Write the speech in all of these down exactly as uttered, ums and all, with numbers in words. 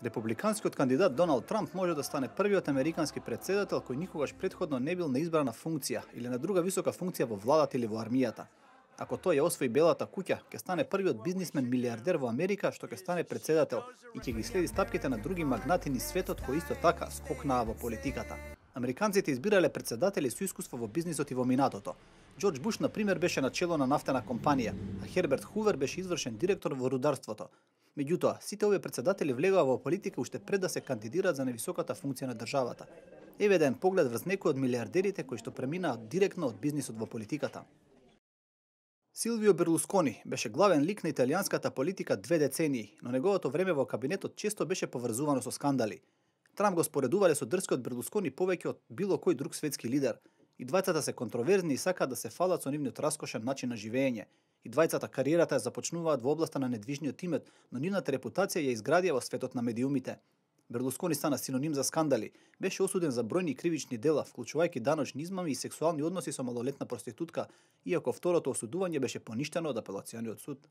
Републиканскиот кандидат Доналд Трамп може да стане првиот американски претседател кој никогаш претходно не бил на избрана функција или на друга висока функција во владата или во армијата. Ако тој ја освои Белата куќа, ќе стане првиот бизнисмен милиардер во Америка што ќе стане претседател и ќе ги следи стапките на други магнати низ светот кои исто така скокнаа во политиката. Американците избирале претседатели со искуство во бизнисот и во минатото. Џорџ Буш, на пример, беше на чело на нафтена компанија, а Херберт Хувер беше извршен директор во рударството. Меѓутоа, сите овие претседатели влегоа во политика уште пред да се кандидираат за највисоката функција на државата. Еве еден поглед врз некои од милиардерите кои што преминаат директно од бизнисот во политиката. Силвио Берлускони беше главен лик на италијанската политика две децении, но неговото време во кабинетот често беше поврзувано со скандали. Трамп го споредувале со дрскиот Берлускони повеќе од било кој друг светски лидер. И двајцата се контроверзни и сакаат да се фалат со нивниот раскошен начин на живење. И двајцата кариерата ја започнуваат во областа на недвижниот имет, но нивната репутација ја изградија во светот на медиумите. Берлускони стана синоним за скандали, беше осуден за бројни кривични дела, вклучувајќи даночни измами и сексуални односи со малолетна проститутка, иако второто осудување беше поништено од апелациониот суд.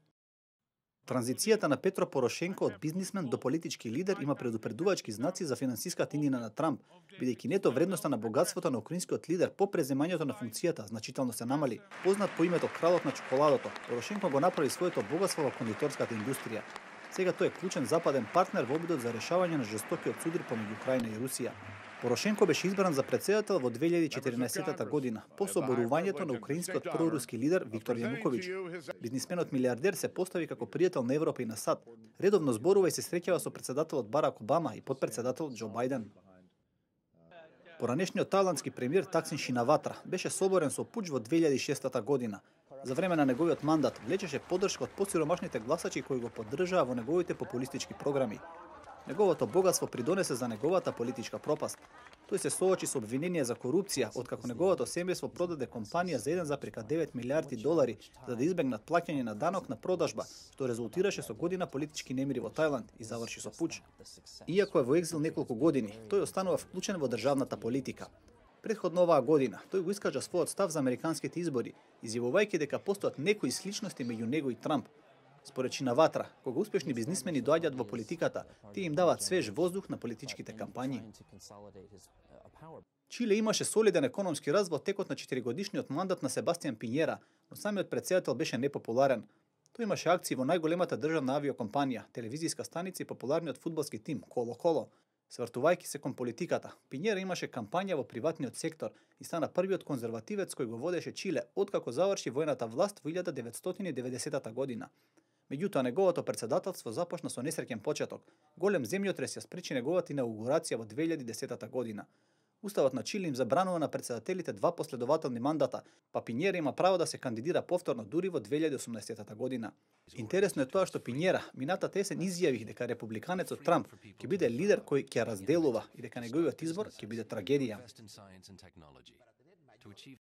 Транзицијата на Петро Порошенко од бизнисмен до политички лидер има предупредувачки знаци за финансиската иднина на Трамп, бидејќи нето вредноста на богатството на украинскиот лидер по преземањето на функцијата значително се намали. Познат по името кралот на чоколадото, Порошенко го направи своето богатство во кондиторската индустрија. Сега тој е клучен западен партнер во обидот за решавање на жестокиот судар помеѓу Украина и Русија. Порошенко беше избран за претседател во две илјади и четирнаесетта година, по соборувањето на украинскиот проруски лидер Виктор Јануковиќ. Бизнисменот милиардер се постави како пријател на Европа и на САД. Редовно зборува и се среќава со претседателот Барак Обама и потпредседателот Џо Бајден. Поранешниот тајландски премиер Таксин Шинаватра беше соборен со пуч во две илјади и шеста година. За време на неговиот мандат влечеше поддршка од посиромашните гласачи кои го поддржаа во неговите популистички програми. Неговото богатство придонесе за неговата политичка пропаст. Тој се соочи со обвинение за корупција, откако неговото семејство продаде компанија за еден зарез девет милиарди долари за да избегнат плаќање на данок на продажба, што резултираше со година политички немири во Тајланд и заврши со пуч. Иако е во екзил неколку години, тој останува вклучен во државната политика. Предходно оваа година, тој го искажа својот став за американските избори, изјавувајќи дека постојат некои сличности меѓу него и Трамп. Според Шинаватра, кога успешни бизнисмени доаѓаат во политиката, тие им даваат свеж воздух на политичките кампањи. Чиле имаше солиден економски раст во текот на четиригодишниот мандат на Себастијан Пинјера, но самиот претседател беше непопуларен. Тој имаше акции во најголемата државна авиокомпанија, телевизиска станица и популарниот фудбалски тим Коло-Коло. Свртувајќи се кон политиката, Пинјера имаше кампања во приватниот сектор и стана првиот конзервативец кој го водеше Чиле откако заврши војната власт во илјада деветстотини и деветдесетта година. Меѓутоа, неговото претседателство започна со несреќен почеток. Голем земјотрес ја спречи неговата инаугурација во две илјади и десетта година. Уставот на Чиле им забранува на претседателите два последователни мандата, па Пинјера има право да се кандидира повторно дури во две илјади и осумнаесетта година. Интересно е тоа што Пинјера минатата есен изјави дека републиканецот Трамп ќе биде лидер кој ќе разделува и дека неговиот избор ќе биде трагедија.